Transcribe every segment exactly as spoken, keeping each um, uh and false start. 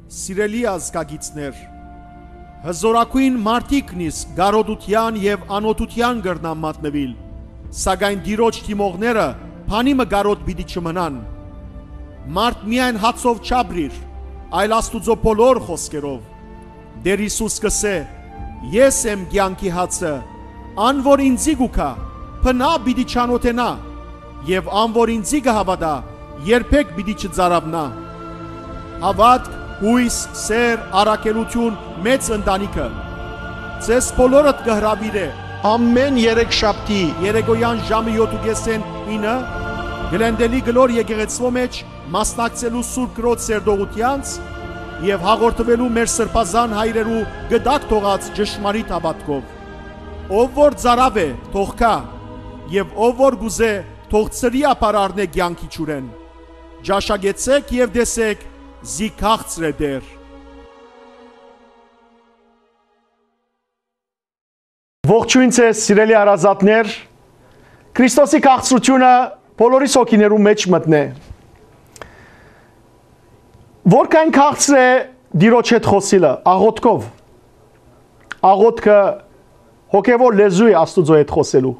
Սիրելի ազգագիցներ, հզօրագոյն մարդիկն իսկ կարօտութեան եւ անօթութեան կրնան մատնուիլ, սակայն Տիրոջ դիմողները բանի մը կարօտ պիտի չմնան։ Մարդ միայն հացով չապրիր, այլ Աստուծոյ բոլոր խօսքերով։ Տէր Յիսուս կ'ըսէ. «Ես եմ կեանքի հացը, ան որ ինծի կու գայ, բնաւ պիտի չանօթենայ, եւ ան որ ինծի կը հաւատայ, երբեք պիտի չծարաւնայ»։ Հաւատք, յոյս, սէր, առաքելութիւն, մեծ ընտանիքը ձեզ բոլորդ կը հրաւիրէ։ Ամէն երեքշաբթի երեկոյեան ժամը յոթ ու կէսէն ինը Գլենդելի կլոր եկեղեցւոյ մէջ մասնակցելու Սուրբ Կրոջ սերտողութեանց եւ հաղորդուելու մեր սրբազան հայրերու կտակ թողած ճշմարիտ հաւատքով։ Ով որ ծարաւ է, թող գայ, եւ ով որ կ'ուզէ, թող ծրի ապար առնէ կեանքի ջուրէն։ Ճաշակեցէք եւ տեսէք, զի քաղցր է Տէր։ Ողջոյն ձեզ, սիրելի հարազատներ։ Քրիստոսի քաղցրութիւնը բոլորիս հոգիներու մէջ մտնէ։ Որքան քաղցր է Տիրոջ հետ խօսիլը, աղոթքով։ Աղոթքը հոգեւոր լեզու է Աստուծոյ հետ խօսելու։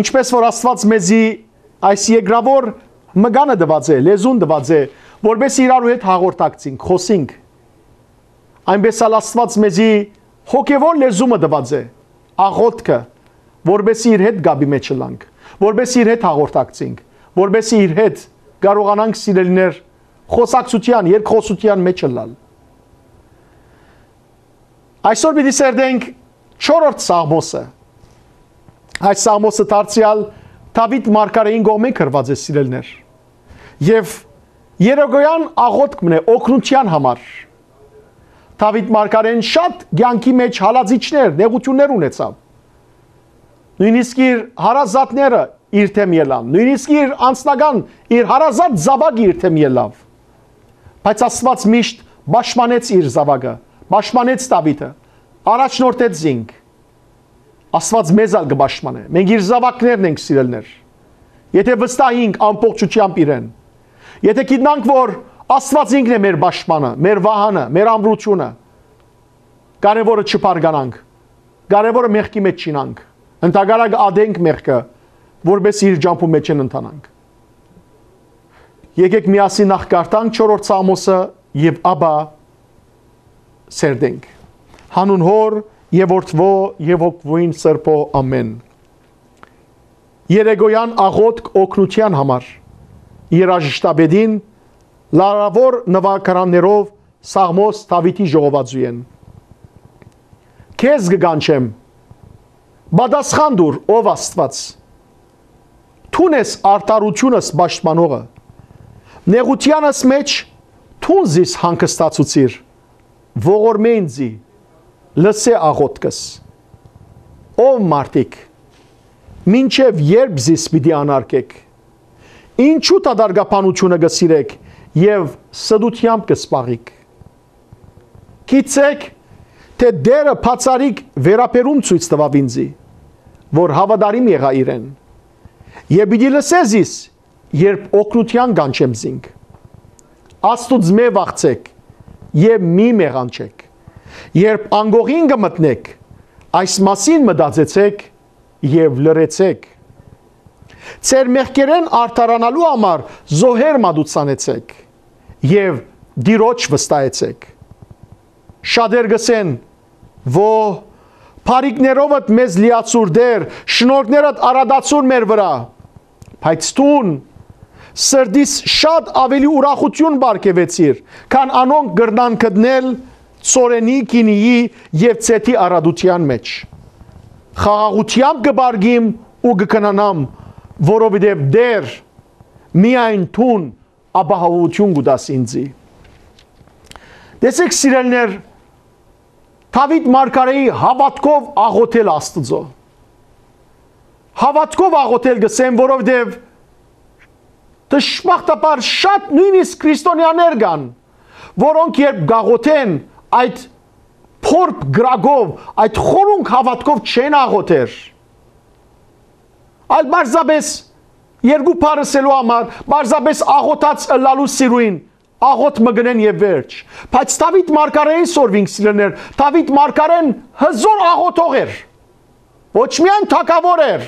Ինչպէս որ Աստուած մեզի այս երկրաւոր մկանը տուած է, լեզուն տուած է, որպէս իրարու հետ հաղորդակցինք, խօսինք, այնպէս ալ Աստուած մեզի հոգեւոր լեզու մը տուած է, աղոթքը, որպէս իր հետ կապի մէջ ըլլանք, որպէս իր հետ հաղորդակցինք, որպէս իր հետ կարողանանք, սիրելիներ, խօսակցութեան, երկխօսութեան մէջ ըլլալ։ Այսօր պիտի սերտենք չորրորդ Սաղմոսը։ Այս Սաղմոսը դարձեալ Դաւիթ մարգարէին կողմէ գրուած է, սիրելիներ։ Եւ երեկոյեան աղոթք մնէ օգնութեան համար։ Դաւիթ մարգարէն շատ կեանքի մէջ հալածիչներ, նեղութիւններ ունեցաւ։ Նոյնիսկ իր հարազատները իր դէմ ելան, նոյնիսկ իր անձնական, իր հարազատ զաւակը իր դէմ ելաւ։ Բայց Աստուած միշտ պաշտպանեց իր զաւակը, պաշտպանեց Դաւիթը, առաջնորդեց զինք։ Աստուած մեզ ալ կը պաշտպանէ։ Մենք իր զաւակներն ենք, սիրելիներ։ Եթէ վստահինք ամբողջութեամբ իրեն, եթէ գիտնանք, որ Աստուած ինքն է մեր պաշտպանը, մեր վահանը, մեր ամրությունը, կարեւորը չբարկանանք, կարեւորը մեղքի մէջ չիյնանք, ընդհակառակը ատենք մեղքը, որպէս իր ճամբուն մէջ չընթանանք։ Եկէք միասին նախ կարդանք չորրորդ Սաղմոսը եւ ապա սերտենք։ Յանուն Հօր եւ Որդւոյ եւ Հոգւոյն Սրբոյ, ամէն։ Երեկոյեան աղոթք օգնութեան համար երաժշտապետին լարաւոր նուագարաններով Սաղմոս Դաւիթի ժողովածուէն։ Քեզ կը կանչեմ, պատասխան տուր, ով Աստուած։ Դուն ես արդարութիւնս պաշտպանողը։ Նեղութեանս մէջ դուն զիս հանգստացուցիր, ողորմէ ինծի, լսէ աղոթքս։ Ով մարդիկ, մինչեւ ե՞րբ զիս պիտի անարգէք։ Ինչու՞ դատարկաբանութիւնը կը սիրէք եւ ստութեամբ կը զբաղիք։ Գիտցէք, թէ Տէրը բացառիկ վերաբերում ցոյց տուաւ ինծի, որ հաւատարիմ եղայ իրեն։ Եւ պիտի լսէ զիս, երբ օգնութեան կանչեմ զինք։ Աստուծմէ վախցէք եւ մի մեղանչէք։ Երբ անկողին կը մտնէք, այս մասին մտածեցէք եւ լռեցէք։ Ձեր մեղքերէն արդարանալու համար զոհեր մատուցանեցէք եւ Տիրոջ վստահեցէք։ Շատեր կ'ըսեն. «Ո, բարիքներովդ մեզ լիացուր, Տէր, շնորհքներդ արատացուր մեր վրայ»։ Բայց դուն սրտիս շատ աւելի ուրախութիւն պարգեւեցիր, քան անոնք կրնան գտնել ցորենի, գինիի եւ ձէթի արատութեան մէջ։ Խաղաղութեամբ կը պառկիմ ու կը քնանամ, որովհետեւ Տէր, միայն դուն ապահովութիւն կու տաս ինծի։ Տեսեք, սիրելիներ, Դաւիթ մարգարէի հաւատքով աղոթել Աստուծոյ։ Հաւատքով աղոթել կ'ըսեմ, որովհետեւ դժբախտաբար շատ նոյնիսկ քրիստոնեաներ կան, որոնք երբ կ'աղոթեն այդ փորփ կրակով, այդ խորունկ հաւատքով չեն աղոթեր, այլ պարզապէս երկու բառ ըսելու համար, պարզապէս աղոթած ըլլալու սիրոյն աղոթք մը կ'ընեն եւ վերջ։ Բայց Դաւիթ մարգարէին սորվինք, սիրելիներ, Դաւիթ մարգարէն հզօր աղոթող էր։ Ոչ միայն թագաւոր էր,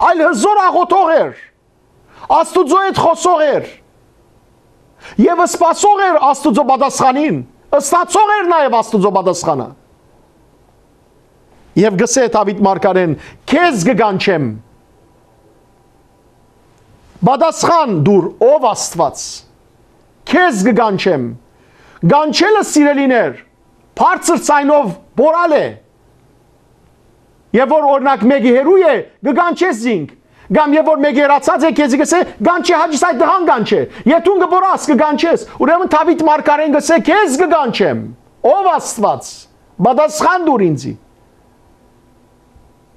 այլ հզօր աղոթող էր, Աստուծոյ հետ խօսող էր եւ սպասող էր Աստուծոյ պատասխանին, ստացող էր նաեւ Աստուծոյ պատասխանը։ Եւ գսէ Դաւիթ մարգարէն. «Քեզ կը կանչեմ, պատասխան տուր, ով Աստուած, քեզ կը կանչեմ»։ Կանչելը, սիրելիներ, բարձր ձայնով պոռալ է։ Եւ որ, օրինակ, մէկը հեռու է, կը կանչես զինք, կամ եւ որ մէկը հեռացած է, քեզի կ'ըսէ. «Կանչէ, Հաճի Սայ, տղան կանչէ»։ Եթ դուն կը պոռաս, կը կանչես։ Ուրեմն Դաւիթ մարգարէն կ'ըսէ. «Քեզ կը կանչեմ, ով Աստուած, պատասխան տուր ինծի»։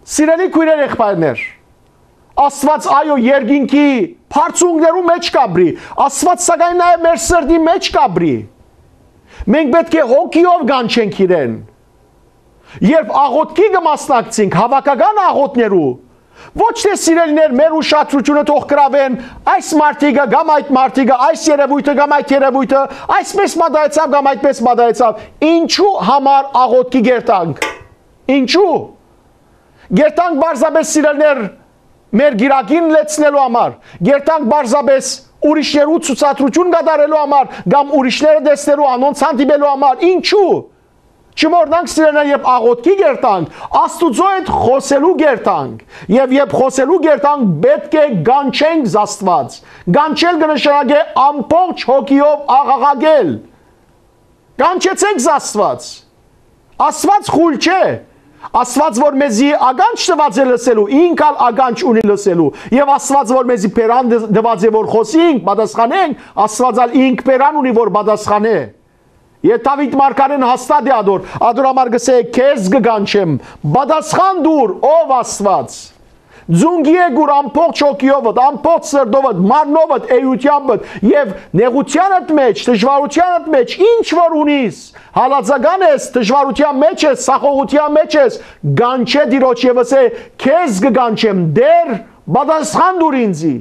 Սիրելի քոյրեր, եղբայրներ, Աստուած, այո, երկինքի բարձունքներու մէջ կ'ապրի, Աստուած, սակայն, նաեւ մեր սրտի մէջ կ'ապրի։ Մենք պէտք է հոգիով կանչենք իրեն։ Երբ աղոթքի կը մասնակցենք, հաւաքական աղոթներու, ոչ թէ, սիրելիներ, մեր ուշադրութիւնը թող գրաւեն այս մարդիկը կամ այդ մարդիկը, այս երեւոյթը կամ այդ երեւոյթը, այսպես մտայեցաւ կամ այդպես մտայեցաւ, ինչու համար աղոթքի կերտանք։ Ինչու։ Կերտանք պարզապէս, սիրելիներ, մեր կիրակին լեցնելու համար, կերտանք պարզապէս ուրիշներու ցուցադրութիւն կատարելու համար կամ ուրիշները տեսնելու, անոնց հանդիպելու համար։ Ինչու։ Չմոռնանք, սիրելիներ, երբ աղոթքի կերտանք, Աստուծոյ հետ խօսելու կերտանք, եւ երբ խօսելու կերտանք, պէտք է կանչենք Աստուած։ Կանչել կը նշանակէ ամբողջ հոգիով աղաղակել. «Կանչեցէք Աստուած»։ Աստուած խուլ չէ։ Աստուած որ մեզի ականջ տուած է լսելու, ինք ալ ականջ ունի լսելու, եւ Աստուած որ մեզի բերան տ-, տուած է որ խօսինք, պատասխանենք, Աստուած ալ ինք բերան ունի որ պատասխանէ։ Եթ Դաւիթ մարգարէն հաստատ է ադոր, ադոր համար կ'ըսէ. «Քեզ կը կանչեմ, պատասխան տուր, ով Աստուած»։ Ձունկի է գուր ամբողջ հոգիովդ, ամբողջ սրտովդ, մարմնովդ, էութեանդ եւ նեղութեանդ մէջ, դժուարութեանդ մէջ, ինչ որ ունիս, հալածական ես, դժուարութեան մէջ ես, սախողութեան մէջ ես, կանչէ Տիրոջ եւ ըսէ. «Քեզ կը կանչեմ, Տէր, պատասխան տուր ինձի»։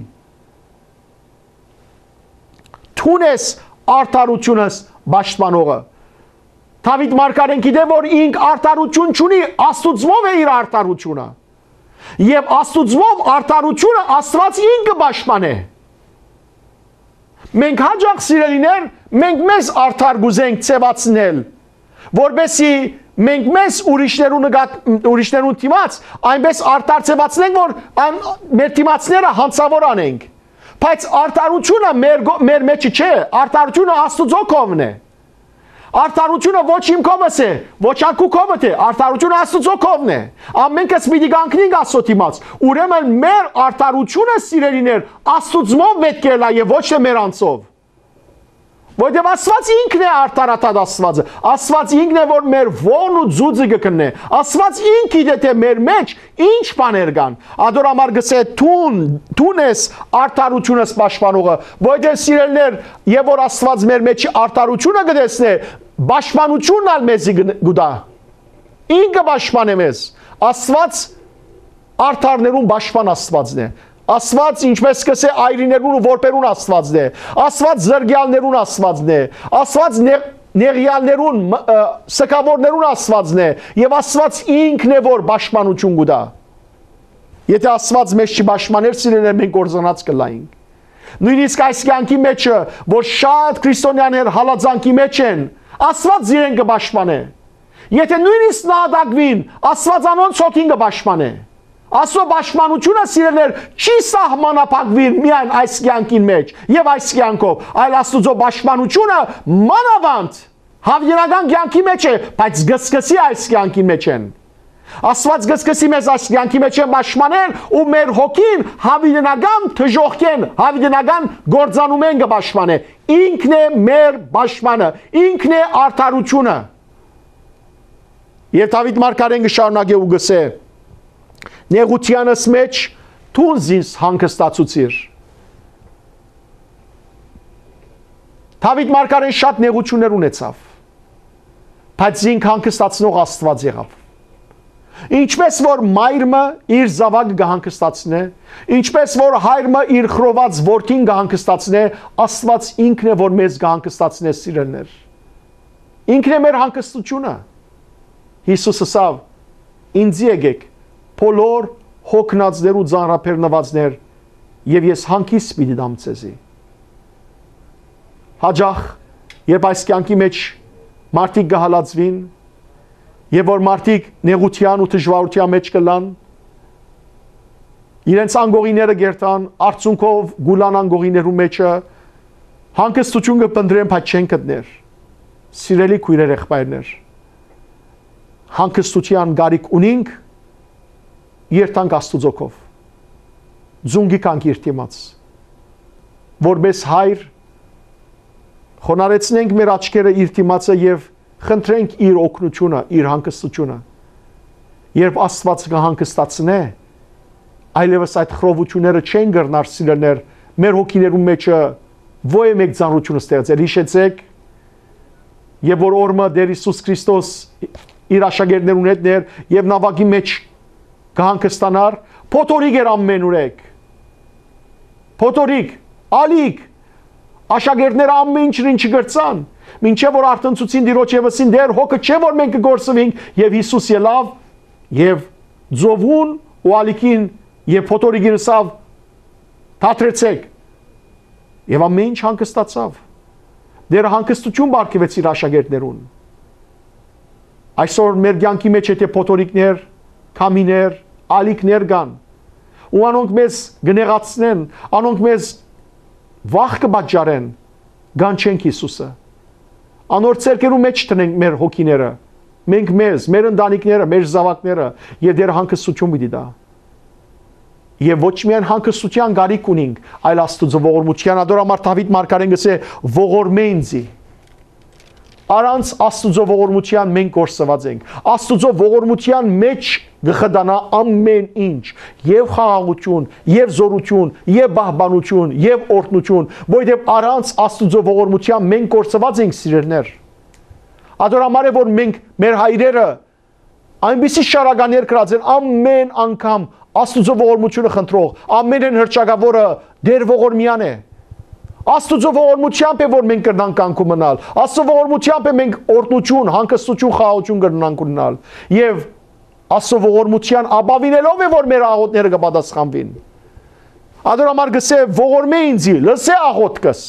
Դուն ես արդարութիւնս պաշտպանողը։ Դաւիթ մարգարեն գիտէ որ ինք արդարութիւն չունի, Աստուծմով է իր արդարութիւնը։ Եւ Աստուծմով արդարութիւնը Աստուած ինքը պաշտպանէ։ Մենք հաճախ, սիրելիներ, մենք մեզ արդար կ'ուզենք ձեւացնել, որպեսզի մենք մեզ ուրիշներու նկատ-, ուրիշներուն դիմաց այնպես արդար ձևացնենք, որ ան-, մեր դիմացները հանցաւոր անենք։ Բայց արդարութիւնը մեր գո-, մեր մեջը չէ, արդարութիւնը Աստուծոյ կողմն է։ Արդարութիւնը ոչ իմ կողմս է, ոչ ան քու կողմդ է, արդարութիւնը Աստուծոյ կողմն է։ Ամենքս պիտի կանգնենք Աստծո դիմաց։ Ուրեմն մեր արդարութիւնը, սիրելիներ, Աստուծմով պէտք է ըլլայ եւ ոչ թէ մեր անձով։ Որտեւ Աստուած ինքն է արդարադատ Աստուածը։ Աստուած ինքն է, որ մեր ողն ու ձուծը կը քննէ։ Աստուած ինք գիտէ թէ մեր մէջ ինչ բաներ կան։ Ադոր համար կ'ըսէ. «Դուն, դուն ես արդարութիւնս պաշտպանողը», որտեւ, սիրելիներ, եւ որ Աստուած մեր մեջի արդարութիւնը կը տեսնէ, պաշտպանութիւնն ալ մեզի կը, կու տայ։ Ինքը պաշտպանէ մեզ։ Աստուած արդարներուն պաշտպան Աստուածն է։ Աստուած, ինչպես կ'ըսէ, այրիներուն ու որբերուն Աստուածն է։ Աստուած զրկեալներուն Աստուածն է։ Աստուած նեղ-, նեղեալներուն, մ-, ը, սգաւորներուն Աստուածն է։ Եւ Աստուած ինքն է, որ պաշտպանութիւն կու տայ։ Եթէ Աստուած մեզ չի պաշտպաներ, սիրելիներ, մենք կործանած կ'ըլլայինք։ Նոյնիսկ այս կեանքի մէջը, որ շատ քրիստոնեաներ հալածանքի մէջ են, Աստուած իրեն կը պաշտպանէ։ Եթէ նոյնիսկ նահատակուին, Աստուած անոնց հոգին կը պաշտպանէ։ Աստուծոյ պաշտպանութիւնը, սիրելիներ, չի սահմանափակուիր միայն այս կեանքին մէջ եւ այս կեանքով, այլ Աստուծոյ պաշտպանութիւնը մանաւանդ յաւիտենական կեանքի մէջ է, բայց կսկսի այս կեանքին մէջ են։ Աստուած կսկսի մեզ այս կեանքի մէջ են պաշտպանել ու մեր հոգին յաւիտենական դժոխքէն, յաւիտենական կործանումէն կը պաշտպանէ։ Ինքն է մեր պաշտպանը, ինքն է արդարութիւնը։ Եթ Դաւիթ մարգարեն կը շարունակէ ու կ'ըսէ. «Նեղութեանս մէջ դուն զինք հանգստացուցիր»։ Դաւիթ մարգարեն շատ նեղութիւններ ունեցաւ, բայց զինք հանգստացնող Աստուած եղաւ։ Ինչպէս որ մայր մը իր զաւակը կը հանգստացնէ, ինչպէս որ հայր մը իր խռոված որդին կը հանգստացնէ, Աստուած ինքն է որ մեզ կը հանգստացնէ, սիրելիներ։ Ինքն է մեր հանգստութիւնը։ Յիսուս ըսաւ. «Ինծի եկէք, բոլոր յոգնածներ ու ծանրաբեռնուածներ, եւ ես հանգիստ պիտի տամ ձեզի»։ Յաճախ, երբ այս կեանքի մէջ մարդիկ կը հալածուին, եւ որ մարդիկ նեղութեան ու դժուարութեան մէջ կ'ըլլան, իրենց անկողինները կ'երթան, արդյունքով կ'ուլան անկողիններու մէջը, հանգստութիւն կը փնտռեն, բայց չեն գտներ։ Սիրելի քոյրեր, եղբայրներ, հանգստութեան կարիք ունինք, երթանք Աստուծոյ քով, ծունկի գանք իր դիմաց, որպէս հայր խոնարհեցնենք մեր աչքերը իր դիմացը եւ խնդրենք իր օգնութիւնը, իր հանգստութիւնը։ Երբ Աստուած կը հանգստացնէ, այլեւս այդ խռովութիւնները չեն կրնար, սիրելիներ, մեր հոգիներու մէջը ոյե մէկ ծանրութիւն ստեղծել։ Յիշեցէք, երբ որ օրը Տէր Յիսուս Քրիստոս իր աշակերտներուն հետ էր եւ նաւակի մէջ կը հանգստանար, փոթորիկ էր ամէնուրեք։ Փոթորիկ, ալիք, աշակերտները ամէն ինչ չկրցան, մինչեւ որ արթնցուցին Տիրոջ եւ ըսին. «Տէր, հոգը չէ՞ որ մենք կը կորսուինք»։ Եւ Յիսուս ելաւ եւ ծովուն ու ալիքին եւ փոթորիկին ըսաւ. «Դադրեցէք»։ Եւ ամէն ինչ հանգստացաւ։ Տէրը հանգստութիւն պարգեւեց իր աշակերտներուն։ Այսօր մեր կեանքի մէջ եթե փոթորիկներ, քամիներ, ալիքներ կան, ու անոնք մեզ կը նեղացնեն, անոնք մեզ վախ կը պատճառեն, կանչենք Յիսուսը։ Անոր ձեռքերու մէջ դնենք մեր հոգիները, մենք մեզ, մեր ընտանիքները, մեր զաւակները, եւ Տէրը հանգստութիւն պիտի տայ։ Եւ ոչ միայն հանգստութեան կարիք ունինք, այլ Աստուծոյ ողորմութեան։ Ատոր համար Դաւիթ մարգարէն կ'ըսէ. «Ողորմէ ինծի»։ Առանց Աստուծոյ ողորմութեան մենք կորսուած ենք։ Աստուծոյ ողորմութեան մէջ կը խտանայ ամէն ինչ, եւ խաղաղութիւն, եւ զօրութիւն, եւ պահպանութիւն, եւ օրհնութիւն, որովհետեւ առանց Աստուծոյ ողորմութեան մենք կորսուած ենք, սիրելիներ։ Ատոր համար է որ մենք, մեր հայրերը, այնպիսի շարականներ կրած են, ամէն անգամ Աստուծոյ ողորմութիւնը խնդրող, ամէնէն հռչակաւորը Տէր ողորմեան է։ Աստուծոյ ողորմութեամբ է որ մենք կրնանք կանգ մնալ։ Աստուծոյ ողորմութեամբ է մենք օրհնութիւն, հանգստութիւն, խաղաղութիւն կրնանք ունենալ։ Եւ Աստուծոյ ողորմութեան ապաւինելով է որ մեր աղօթքները կը պատասխանուին։ Ատոր համար կ'ըսէ. «Ողորմէ ինծի, լսէ աղօթքս»։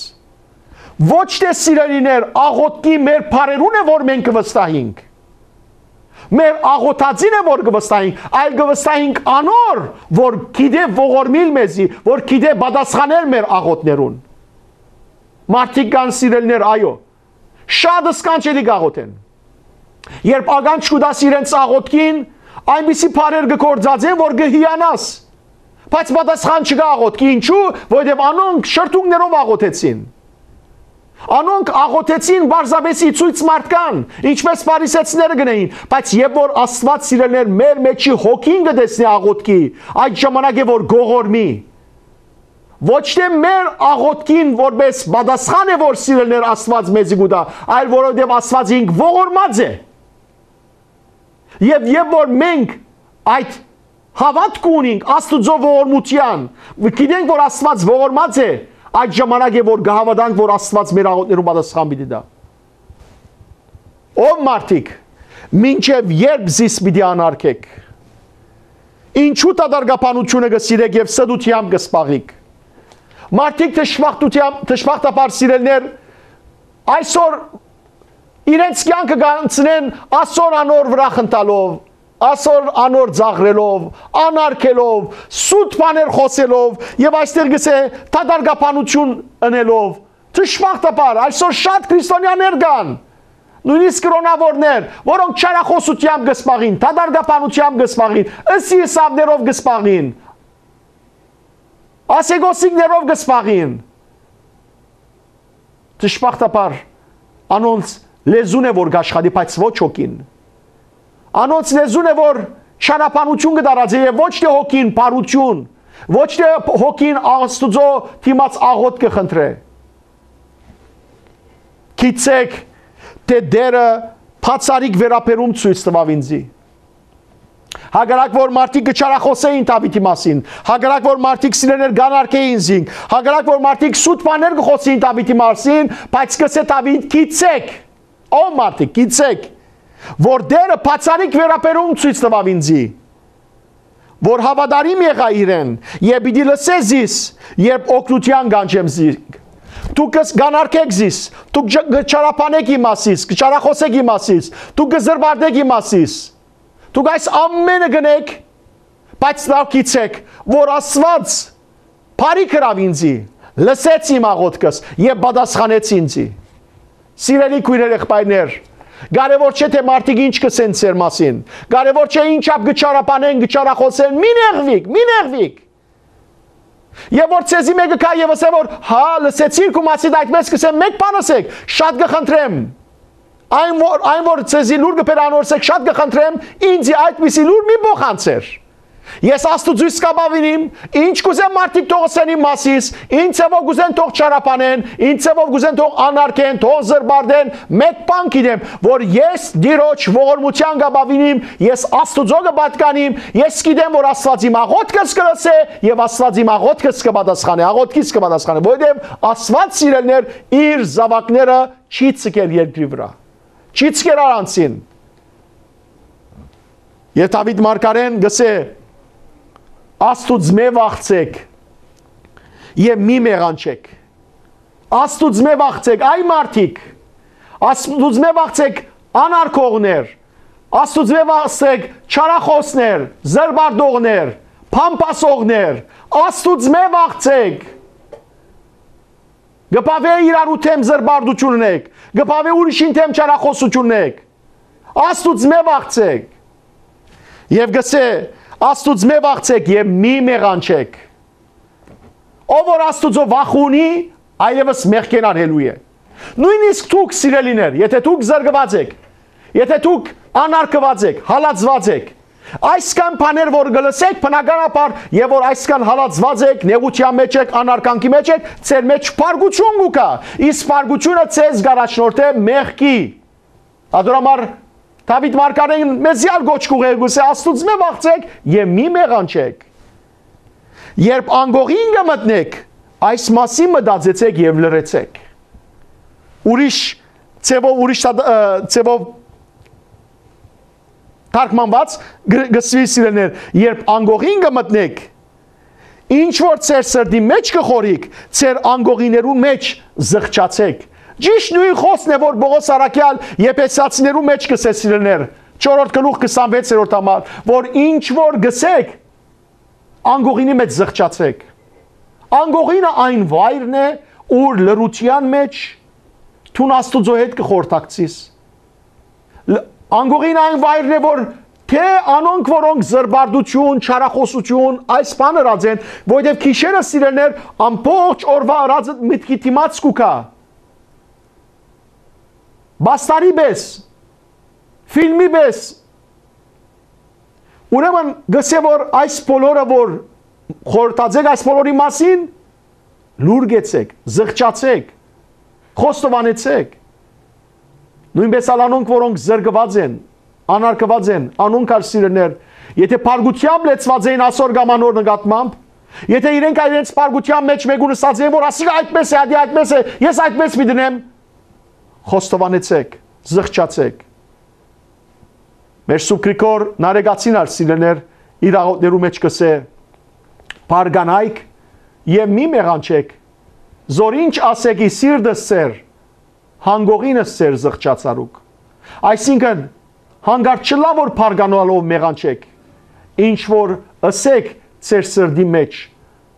Ոչ թէ, սիրելիներ, աղօթքի մեր բառերուն է որ մենք կը վստահինք, մեր աղօթածին է որ կը վստահինք, այլ կը վստահինք անոր, որ գիտէ ողորմիլ մեզի, որ գիտէ պատասխանել մեր աղօթքներուն։ Մարդիկ կան, սիրելիներ, այո, շատ սքանչելի կ'աղօթեն։ Երբ ականջ կու տաս իրենց աղօթքին, այնպիսի բառեր կը գործածեն որ կը հիանաս, բայց պատասխան չկայ աղօթքի։ Ինչու՞, որովհետեւ անոնք շրթունքներով աղօթեցին։ Անոնք աղօթեցին պարզապէս ի ցոյց մարդկան, ինչպէս փարիսեցիները կ'ընէին, բայց երբ որ Աստուած, սիրելիներ, մեր մէջի հոգին կը տեսնի աղօթքի, այդ ժամանակ է որ կ'ողորմի։ Ոչ թէ մեր աղօթքին որպէս պատասխան է որ, սիրելիներ, Աստուած մեզի կու տայ, այլ որովհետեւ Աստուած ինք ողորմած է։ Եւ երբ որ մենք այդ հաւատքը ունինք Աստուծոյ ողորմութեան, գիտենք որ Աստուած ողորմած է, այդ ժամանակ է որ կը հաւատանք որ Աստուած մեր աղօթքներուն պատասխան պիտի տայ։ Ով մարդիկ, մինչեւ ե՞րբ զիս պիտի անարգէք։ Ինչու՞ դատարկաբանութիւնը կը սիրէք եւ ստութեամբ կը զբաղիք։ Մարդիկ դժբախտութեան-, դժբախտաբար, սիրելիներ, այսօր իրենց կեանքը կանցնեն ասոր անոր վրայ խնդալով, ասոր անոր ծաղրելով, անարգելով, սուտ բաներ խօսելով, եւ այստեղ կ'ըսէ դատարկաբանութիւն ընելով։ Դժբախտաբար, այսօր շատ քրիստոնեաներ կան, նոյնիսկ կրօնաւորներ, որոնք չարախօսութեամբ կը զբաղին, դատարկաբանութեամբ կը զբաղին, ըսի ըսաւներով կը զբաղին, ասեկոսիկներով կը զբաղին։ Դժբախտաբար, անոնց լեզուն է որ կ'աշխատի, բայց ոչ հոգին։ Անոնց լեզուն է որ չարաբանութիւն կը տարածէ եւ ոչ թէ հոգին բարութիւն, ոչ թէ հոգին Աստուծոյ դիմաց աղօթք կը խնդրէ։ Գիտցէք թէ Տէրը բացառիկ վերաբերում ցոյց տուաւ ինծի։ Հակառակ որ մարդիկ կը չարախոսէին Դաւիթի մասին, հակառակ որ մարդիկ սիրելիներ կ'անարգէին զինք, հակառակ որ մարդիկ սուտ բաներ կը խօսէին Դաւիթի մասին, բայց կ'ըսէ Դաւիթ. «Գիտցէք, ով մարդիկ, գիտցէք, որ Տէրը բացառիկ վերաբերում ցոյց տուաւ ինծի, որ հաւատարիմ եղայ իրեն եւ պիտի լսէ զիս, երբ օգնութեան կանչեմ զինք։ Դուք կ'անարգէք զիս, դուք կը չարաբանէք իմ մասիս, կը չարախօսէք իմ մասիս, դուք կը զրպարտէք իմ մասիս։ Դուք այս ամէնը կ'ընէք, բայց լաւ գիտցէք, որ Աստուած բարի կրաւ ինծի, լսեց իմ աղօթքս եւ պատասխանեց ինծի»։ Սիրելի քոյրեր, եղբայրներ, կարեւոր չէ թէ մարդիկ ինչ կ'ըսեն ձեր մասին, կարեւոր չէ ինչապ կը չարաբանեն, կը չարախօսեն, մի նեղուիք, մի նեղուիք։ Եւ որ ձեզի մէկը գայ եւ ըսէ որ. «Հա, լսեցի՞ր քու մասիդ այդպես կ'ըսեմ, մէկ բան ըսէք, շատ կը խնդրեմ։ Այն որ, այն որ ձեզի լուր կը բեր անորսեք, շատ կը խնդրեմ, ինձի այդպիսի լուր մի փոխանցեր։ Ես Աստուծոյս կ'ապաւինիմ, ինչ կ'ուզեմ մարդիկ թող ըսեն իմ մասիս, ինչ ձեւով կ'ուզեն թող չարաբանեն, ինչ ձեւով կ'ուզեն թող անարգեն, թող զրպարտեն, մէկ բան գիտեմ, որ ես Տիրոջ ողորմութեան կ'ապաւինիմ, ես Աստուծոյ կը պատկանիմ, ես գիտեմ որ Աստուած իմ աղօթքս կը լսէ եւ Աստուած իմ աղօթքս կը պատասխանէ, աղօթքիս կը պատասխանէ, որովհետեւ Աստուած, սիրելիներ, իր զաւակները չի ցկեր երկրի վրայ, չի ցկեր առանցին»։ Եւ Դաւիթ մարգարեն կ'ըսէ. «Աստուծմէ վախցէք եւ մի մեղանչէք։ Աստուծմէ վախցէք, այ մարդիկ, Աստուծմէ վախցէք, անարգողներ, Աստուծմէ վախցէք, չարախօսներ, զրպարտողներ, փամփասողներ, Աստուծմէ վախցէք։ Կը բաւէ իրարու դէմ զրպարտութիւններք, կը բաւէ ուրիշին դէմ չարախօսութիւններք։ Աստուծմէ վախցէք»։ Եւ կ'ըսէ. «Աստուծմէ վախցէք եւ մի մեղանչէք։ Ով որ Աստուծոյ վախ ունի, այլեւս մեղքէն արգելուի է»։ Նոյնիսկ դուք, սիրելիներ, եթէ դուք զրկուած էք, եթէ դուք անարգուած էք, հալածուած էք, այսքան բաներ որ կը լսէք, բնականաբար, եւ որ այսքան հալածուած էք, նեղութեան մէջ էք, անարգանքի մէջ էք, ձեր մէջ փառկութիւն կու գայ, իսկ փառկութիւնը ձեզ կ'առաջնորդէ մեղքի։ Ատոր համար Դաւիթ մարգարեն մեզի ալ կոչ կ'ուղղէ, կ'ըսէ. «Աստուծմէ վախցէք եւ մի մեղանչէք։ Երբ անկողին կը մտնէք, այս մասին մտածեցէք եւ լռեցէք»։ Ուրիշ ձեւով, ուրիշ թա-, ը, ձեւով թարգմանուած, գ-, կ'ըսուի, սիրելիներ. «Երբ անկողին կը մտնէք, ինչ որ ձեր սրտի մէջ կը խորհիք, ձեր անկողիներուն մէջ զղջացէք»։ Ճիշդ նոյն խօսքն է որ Պողոս առաքեալ Եփեսացիներուն մէջ կ'ըսէ, սիրելիներ, չորրորդ գլուխ քսանվեցերորդ համար, որ ինչ որ կ'ըսէք, անկողինի մէջ զղջացէք։ Անկողինը այն վայրն է, ուր լռութեան մէջ դուն Աստուծոյ հետ կը խորհրդակցիս։ Լ-, անկողին այն վայրն է, որ թէ անոնք, որոնք զրպարտութիւն, չարախօսութիւն, այս բան ըրած են, որովհետեւ գիշերը, սիրելիներ, ամբողջ օրուայ ըրածը մտքի դիմաց կու գայ։ Պաստարի պէս, ֆիլմի պէս։ Ուրեմն կ'ըսէ որ այս բոլորը որ խորհրդած էք այս բոլորի մասին, լուռ գեցեք, զղջացէք, խոստովանեցէք։ Նոյնպէս ալ անոնք, որոնք զրկուած են, անարգուած են, անոնք ալ, սիրելիներ, եթէ փառկութեամբ լեցուած էին ասոր կամ անոր նկատմամբ, եթէ իրենք ալ իրենց փառկութեան մէջ մէկուն ըսած էին որ ասիկա այդպես է, ադի այդպես է, ես այդպես պիտի դնեմ, խոստովանեցէք, զղջացէք։ Մեր Սուրբ Գրիգոր Նարեկացին ալ, սիրելիներ, իր աղօթքներու մէջ կ'ըսէ. «Բարգանայք եւ մի մեղանչէք, զոր ինչ ասէք ի սիրտս ձեր, անկողինս ձեր զղջացարուք»։ Այսինքն, հանկարծ չըլլայ որ բարգանալով մեղանչէք, ինչ որ ըսէք ձեր սրտի մէջ,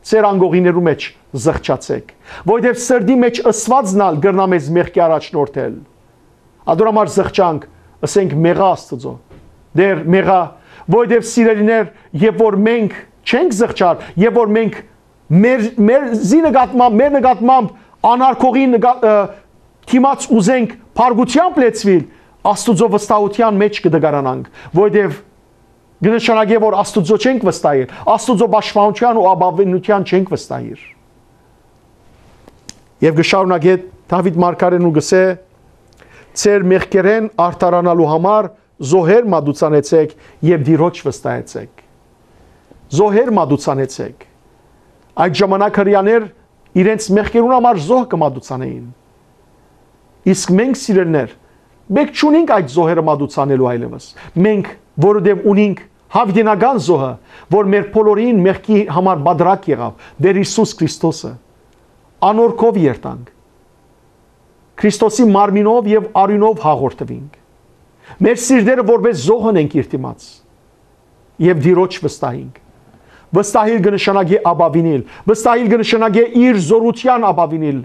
ձեր անկողիներու մէջ զղջացէք, որովհետեւ սրտի մէջ ըսուածն ալ կրնայ մեզ մեղքի առաջնորդել։ Ատոր համար զղջանք, ըսենք, մեղա Աստուծոյ. «Տէր, մեղա», որովհետեւ, սիրելիներ, երբ որ մենք չենք զղջար, երբ որ մենք մեր, մեր զի նկատմամբ, մեր նկատմամբ անարգողի նկա-, ը, դիմաց ուզենք փառկութեամբ լեցուիլ, Աստուծոյ վստահութեան մէջ կը դգարանանք, որովհետեւ կը նշանակէ որ Աստուծոյ չենք վստահիր, Աստուծոյ պաշտպանութեան ու ապաւինութեան չենք վստահիր։ Եւ կը շարունակէ Դաւիթ մարգարեն ու կ'ըսէ. «Ձեր մեղքերէն արդարանալու համար Զոհեր մատուցանեցէք եւ Տիրոջ վստահեցէք։ Զոհեր մատուցանեցէք։ Այդ ժամանակ Հրեաներ իրենց մեղքերուն համար զոհ կը մատուցանէին։ Իսկ մենք, սիրելիներ, մենք չունենք այդ զոհերը մատուցանելու այլեւս։ Մենք, որովհետեւ ունենք յաւիտենական զոհը, որ մեր բոլորին մեղքի համար պատրակ եղաւ, Տէր Յիսուս Քրիստոսը։ Անոր քով երթանք։ Քրիստոսի մարմինով եւ արիւնով հաղորդուինք։ Մեր սիրտերը որպէս զոհ ընենք իր դիմաց եւ Տիրոջ վստահինք։ Վստահիլ կը նշանակէ ապաւինել, վստահիլ կը նշանակէ իր զօրութեան ապաւինել։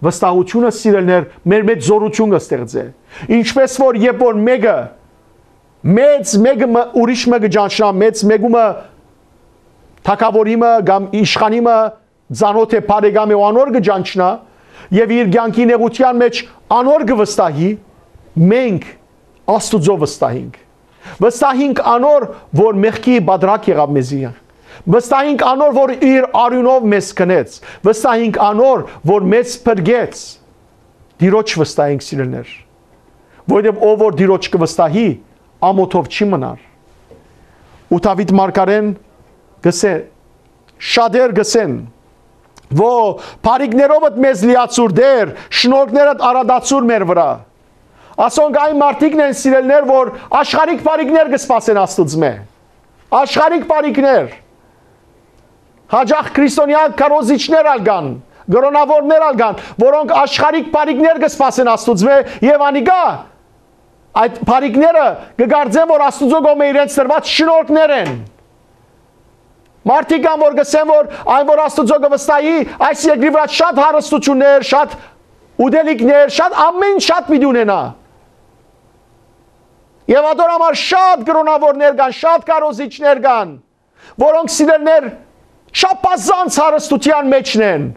Վստահութիւնը, սիրելիներ, մեր մէջ զօրութիւն կը ստեղծէ։ Ինչպէս որ երբ որ մէկը, մեծ մէկը մը ուրիշ մը կը ճանչնայ, մեծ մէկումը թագաւորի մը կամ իշխանի մը ծանօթ է, բարեկամ է ու անոր կը ճանչնայ եւ իր կեանքի նեղութեան մէջ անոր կը վստահի, մենք Աստուծոյ վստահինք։ Վստահինք անոր, որ մեղքի պատրակ եղաւ մեզի։ Վստահինք անոր, որ իր արիւնով մեզ կնեց։ Վստահինք անոր, որ մեզ փրկեց։ Տիրոջ վստահինք, սիրելիներ, որովհետեւ ով որ Տիրոջ կը վստահի, ամօթով չի մնար։ Ու Դաւիթ մարգարեն կսէ, շատեր կսեն, «Ո, բարիքներովդ մեզ լիացուր, Տէր, շնորհքներդ արատացուր մեր վրայ»։ Ասոնք այն մարդիկն են, սիրելիներ, որ աշխարհիկ բարիքներ կը սպասեն Աստուծմէ։ Աշխարհիկ բարիքներ։ Հաճախ քրիստոնեայ քարոզիչներ ալ կան, կրօնաւորներ ալ կան, որոնք աշխարհիկ բարիքներ կը սպասեն Աստուծմէ եւ անիկա այդ բարիքները կը կարծեն, որ Աստուծոյ կողմէ իրենց տրուած շնորհքներ են։ Մարդիկ կան, որ կսեն, որ այն, որ Աստուծոյ կը վստահի, այս երկրի վրայ շատ հարստություններ, շատ ուտելիքներ, շատ ամեն շատ պիտի ունենայ։ Եւ ատոր համար շատ կրօնաւորներ կան, շատ քարոզիչներ կան, որոնք, սիրելիներ, չափազանց հարստութեան մէջն են։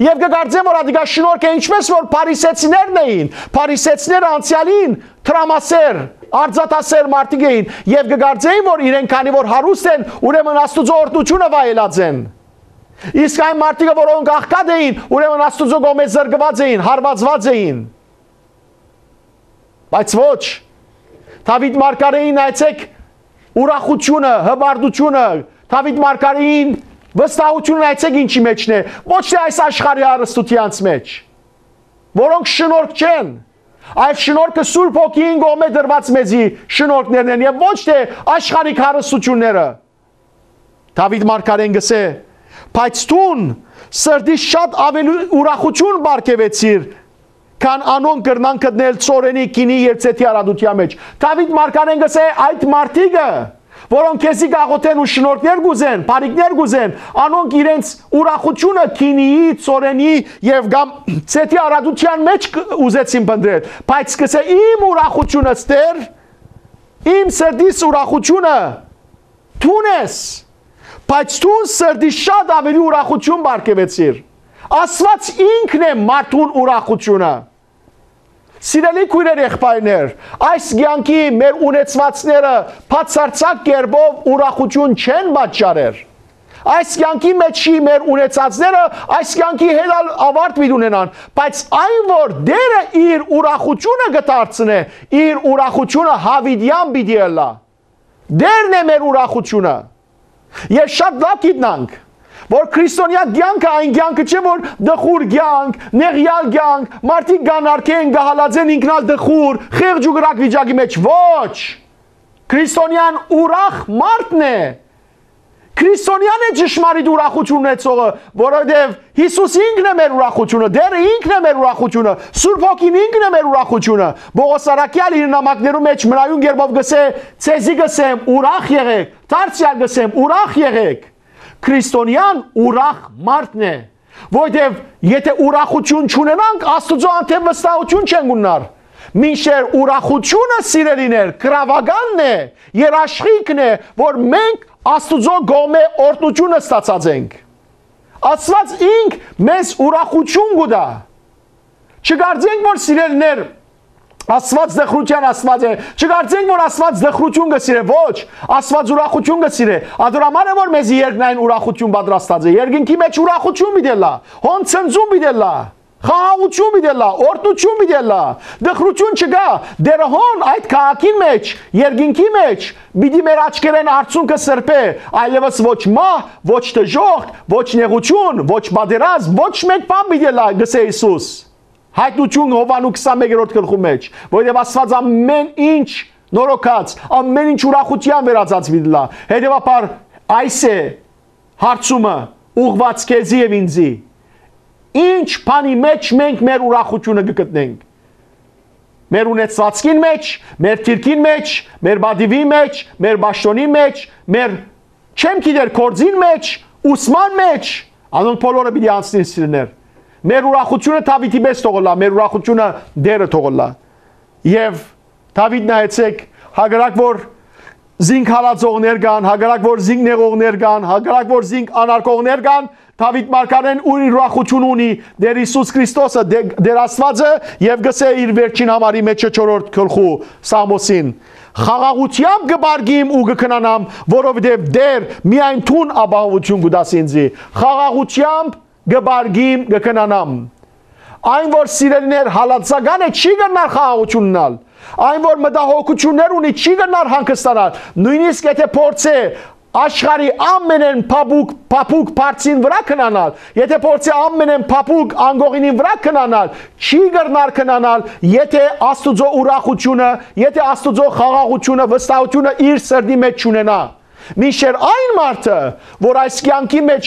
Եւ կը կարծեմ, որ ատիկա շնորհք է, ինչպես որ փարիսեցիներն էին, փարիսեցիները անցեալին տրամասեր, արծաթասեր մարդիկ էին, եւ կը կարծեին, որ իրենք քանի որ հարուստ են, ուրեմն Աստուծոյ օրհնութիւնը վայելած են։ Իսկ այն մարդիկը, որոնք աղքատ էին, ուրեմն Աստուծոյ կողմէ զրկուած էին, հարվածուած էին։ Բայց ոչ, Դաւիթ մարգարեին նայեցէք ուրախութիւնը, հպարտութիւնը, Դաւիթ մարգարեին վստահութիւնը նայեցէք ինչի մէջն է, ոչ թէ այս աշխարհի հարստութեանց մէջ, որոնք շնորհք չեն, այլ շնորհքը Սուրբ Հոգիին կողմէ տրուած մեզի շնորհքներն են եւ ոչ թէ աշխարհիկ հարստությունները։ Դաւիթ մարգարեն կսէ, բայց դուն սրտիս շատ աւելի ուրախութիւն պարգեւեցիր, քան անոնք կրնան գտնել ծորենի, գինի եւ ծեթի արատութեան մէջ։ Դաւիթ մարգարեն կսէ, այդ մարդիկը, որոնք քեզի կաղոթեն ու շնորհքներ կուզեն, բարիքներ կուզեն, անոնք իրենց ուրախութիւնը գինիի, ծորենի եւ կամ ծեթի արատութեան մէջ կ-, ուզեցին փնտռել, բայց կսէ, իմ ուրախութիւնս, Տէր, իմ սրտիս ուրախութիւնը դուն ես, բայց դուն սրտի շատ աւելի ուրախութիւն պարգեւեցիր։ Աստուած ինքն է մարդուն ուրախութիւնը։ Սիրելի քոյրեր, եղբայրներ, այս կեանքի մեր ունեցուածները բացարձակ կերպով ուրախութիւն չեն պատճառեր։ Այս կեանքի մեջ մեր ունեցածները այս կեանքի հետ ալ աւարտ պիտի ունենան, բայց այն որ Տէրը իր ուրախութիւնը կը դարձնէ, իր ուրախութիւնը յաւիտեան պիտի ըլլայ։ Տէրն է մեր ուրախութիւնը։ Ես շատ լաւ գիտնանք, որ քրիստոնեայ կեանքը այն կեանքը չէ, որ տխուր կեանք, նեղեալ կեանք, մարդիկ կան արկեն, կը հալածեն, ինքն ալ տխուր, խեղճ ու կրակ վիճակի մեջ։ Ոչ։ Քրիստոնեան ուրախ մարդն է։ Քրիստոնեան է ճշմարիտ ուրախութիւն ունեցողը, որովհետեւ Յիսուս ինքն է մեր ուրախութիւնը, Տէրը ինքն է մեր ուրախութիւնը, Սուրբ Հոգին ինքն է մեր ուրախութիւնը։ Պողոս առաքեալ իր նամակներու մեջ մնայուն կերպով կսէ, «Ձեզի կսեմ, ուրախ եղէք», դարձեալ կսեմ, «Ուրախ եղէք»։ Քրիստոնեան ուրախ մարդն է, որովհետեւ եթե ուրախութիւն չունենանք, Աստուծոյ հանդէպ վստահութիւն չենք ունենար։ Մինչդեռ ուրախութիւնը, սիրելիներ, գրաւականն է, երաշխիքն է, որ մենք Աստուծոյ կողմէ օրհնութիւնը ստացած ենք։ Աստուած ինք մեզ ուրախութիւն կու տայ։ Չկարծենք, որ, սիրելիներ, Աստուած տխրութեան Աստուած է։ Չկարծենք, որ Աստուած տխրութիւն կը սիրէ։ Ոչ, Աստուած ուրախութիւն կը սիրէ։ Ատոր համար է, որ մեզի երկնային ուրախութիւն պատրաստած է։ Երկնքի մեջ ուրախութիւն պիտի ըլլայ, հոն ցնծում պիտի ըլլայ։ Խաղաղութիւն պիտի ըլլայ, օրհնութիւն պիտի ըլլայ։ Տխրութիւն չկայ։ Դերը հոն այդ քաղաքին մէջ, երկինքի մէջ, պիտի մեր աչքերէն արցունքը սրբէ, այլեւս ոչ մահ, ոչ դժոխք, ոչ նեղութիւն, ոչ պատերազմ, ոչ մէկ բան պիտի ըլլայ, կ'ըսէ Յիսուս։ Յայտնութիւն Յովհաննէս քսանմէկերորդ գլխու մէջ, որովհետեւ Աստուած ամէն ինչ նորոգած, ամէն ինչ ուրախութեան վերածած պիտի ըլլայ։ Հետեւաբար այս է հարցումը ուղղուած քեզի եւ ինձի. ի՞նչ բանի մէջ մենք մեր ուրախութիւնը կը գտնենք։ Մեր ունեցուածքին մէջ, մեր դիրքին մէջ, մեր պատիւի մէջ, մեր պաշտօնի մէջ, մեր, չեմ գիտեր, գործին մէջ, ուսման մէջ, անոնք բոլորը պիտի անցնին, սիրելիներ։ Մեր ուրախութիւնը Դաւիթի պես թող ըլլայ, մեր ուրախութիւնը Տերը թող ըլլայ։ Եւ Դաւիթ, նայեցէք, հակառակ որ զինք հալածողներ կան, հակառակ որ զինք նեղողներ կան, հակառակ որ զինք անարգողներ կան, Դաւիթ մարգարեն ուրախութիւն ունի Տեր Յիսուս Քրիստոսը, Տե-, Տեր Աստուածը, եւ կ'ըսէ իր վերջին համարի մէջ, չորրորդ գլխու, Սաղմոսին. «Խաղաղութեամբ կը պառկիմ ու կը քնանամ, որովհետեւ Տեր, միայն դուն ապահովութիւն կու տաս ինձի»։ Խաղաղութեամբ կը պառկիմ, կը քնանամ։ Այն որ, սիրելիներ, հալածական է, չի կրնար խաղաղութիւն ունենալ։ Այն որ մտահոգութիւններ ունի, չի կրնար հանգստանալ։ Նոյնիսկ եթէ փորձէ աշխարհի ամենէն փափուկ, փափուկ բարձին վրայ քնանալ, եթէ փորձէ ամենէն փափուկ անկողինին վրայ քնանալ, չի կրնար քնանալ, եթէ Աստուծոյ ուրախութիւնը, եթէ Աստուծոյ խաղաղութիւնը, վստահութիւնը իր սրտի մէջ չունենայ։ Մինչդեռ այն մարդը, որ այս կեանքի մէջ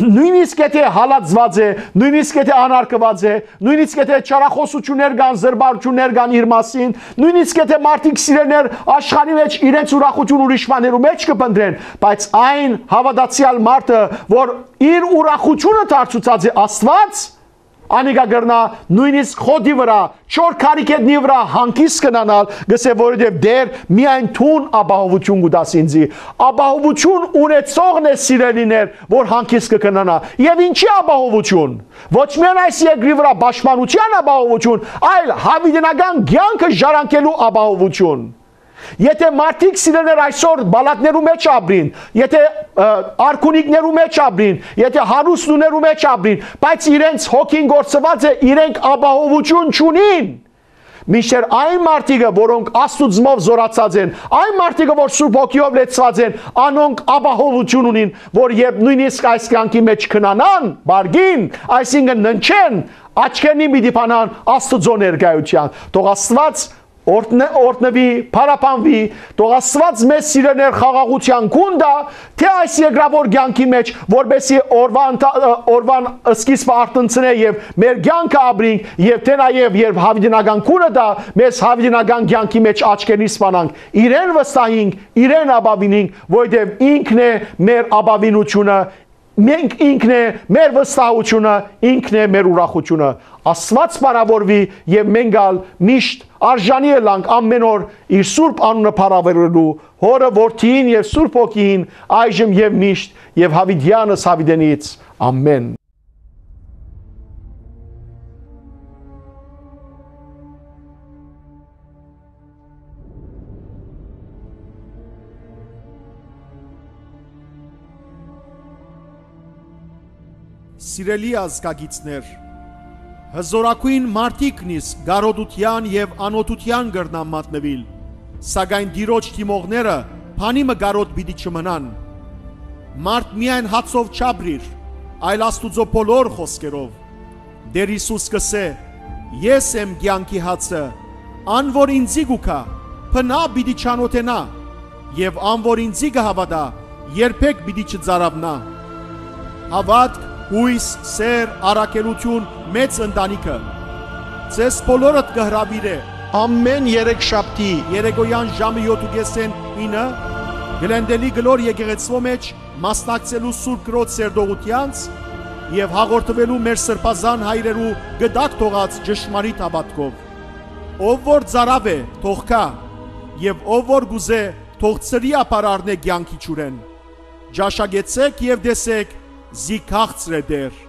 նոյնիսկ եթէ հալածուած է, նոյնիսկ եթէ անարգուած է, նոյնիսկ եթէ չարախօսութիւններ կան, զրպարտութիւններ կան իր մասին, նոյնիսկ եթէ մարդիկ, սիրելիներ, աշխարհի մէջ իրենց ուրախութիւն ուրիշ բաներու մէջ կը փնտրեն, բայց այն հաւատացեալ մարդը, որ իր ուրախութիւնը դարձուցած է Աստուած, անիկա կրնայ նոյնիսկ խոտի վրայ, չոր քարի գետնի վրայ հանգիստ կ'ունենալ, կ'ըսէ, որովհետեւ Տեր, միայն դուն ապահովութիւն կու տաս ինձի։ Ապահովութիւն ունեցողն է, սիրելիներ, որ հանգիստ կը քնանայ։ Եւ ինչի՞ ապահովութիւն։ Ոչ միայն այս երկրի վրայ պաշտպանութեան ապահովութիւն, այլ յաւիտենական կեանքը ժառանգելու ապահովութիւն։ Եթէ մարդիկ, սիրելիներ, այսօր պալատներու մէջ ապրին, եթէ, ը, արքունիքներու մէջ ապրին, եթէ հարուստ տուներու մէջ ապրին, բայց իրենց հոգին կորսուած է, իրենք ապահովութիւն չունին։ Մինչդեռ այն մարդիկը, որոնք Աստուծմով զօրացած են, այն մարդիկը, որ Սուրբ Հոգիով լեցուած են, անոնք ապահովութիւն ունին, որ երբ նոյնիսկ այս կեանքի մէջ քնանան, պառկին, այսինքն՝ ննջեն, աչքերնին պիտի բանան Աստուծոյ ներկայութեան։ Թող Աստուած օրհնե-, օրհնուի, փառաբանուի, թող Աստուած մեզ, սիրելիներ, խաղաղութեան գուն տայ, թէ այս երկրաւոր կեանքի մէջ, որպէսզի օրուան, օրուան սկիզբը արթնցնէ եւ մեր կեանքը ապրինք, եւ թէ նաեւ, երբ յաւիտենական գունը տայ, մեզ յաւիտենական կեանքի մէջ աչքերնից սպանանք, իրեն վստահինք, իրեն ապաւինինք, որովհետեւ ինքն է մեր ապաւինությունը, մենք ինքն է մեր վստահությունը, ինքն է մեր ուրախությունը։ Աստուած փառաւորուի եւ մենք ալ միշտ արժանի ըլանք ամէն օր իր սուրբ անունը փառաւորելու, Հօրը, Որդիին եւ Սուրբ Հոգիին, այժմ եւ միշտ եւ յաւիտեանս յաւիտենից։ Ամէն։ Սիրելի ազգագիցներ, հզօրագոյն մարդիկ նիսկ կարօտութեան եւ անօթութեան կրնան մատնուիլ, սակայն Տիրոջ դիմողները բանի մը կարօտ պիտի չմնան։ Մարդ միայն հացով չապրիր, այլ Աստուծոյ բոլոր խօսքերով։ Տէր Յիսուս կ'ըսէ. «Ես եմ կեանքի հացը, ան որ ինծի կու գայ, բնաւ պիտի չանօթենայ, եւ ան որ ինծի կը հաւատայ, երբեք պիտի չծարաւնայ»։ Հաւատք, յոյս, սէր, առաքելութիւն, մեծ ընտանիքը ձեզ բոլորդ կը հրաւիրէ ամէն երեքշաբթի երեկոյան ժամը յոթ ու կէսէն ինը Գլենդելի կլոր եկեղեցւոյ մէջ մասնակցելու Սուրբ Կրոց սերտողութեանց եւ հաղորդուելու մեր սրբազան հայրերու կտակ թողած ճշմարիտ հաւատքով։ Ով որ ծարաւ է, թող գայ, եւ ով որ կ'ուզէ, թող ծրի ապար առնէ կեանքի ջուրէն։ Ճաշակեցէք եւ տեսէք, զի քաղցր է Տէր։